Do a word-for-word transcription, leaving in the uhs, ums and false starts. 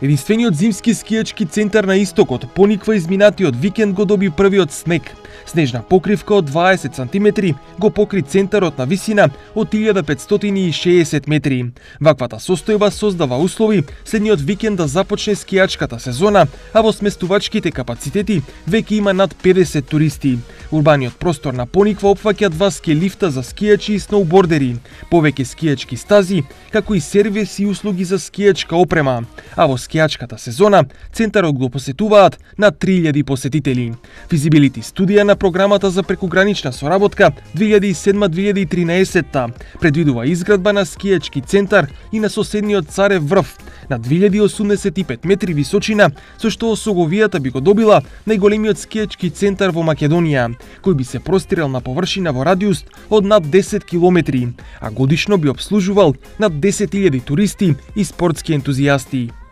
Единствениот зимски скијачки центар на истокот Пониква изминатиот викенд го доби првиот снег. Снежна покривка од дваесет сантиметри го покри центарот на висина од илјада петстотини и шеесет метри. Ваквата состојба создава услови следниот викенд да започне скијачката сезона, а во сместувачките капацитети веќе има над педесет туристи. Урбаниот простор на Пониква опфаќа два ски лифта за скијачи и сноубордери, повеќе скијачки стази, како и сервис и услуги за скијачка опрема. А во скијачката сезона центарот го посетуваат на три илјади посетители. Физибилити студија на програмата за прекугранична соработка две илјади и седма - две илјади и тринаесетта предвидува изградба на скијачки центар и на соседниот Царев врв на две илјади осумдесет и пет метри височина, со што Соговијата би го добила најголемиот скијачки центар во Македонија, кој би се простирал на површина во радиус од над десет километри, а годишно би обслужувал над десет илјади туристи и спортски ентузијасти.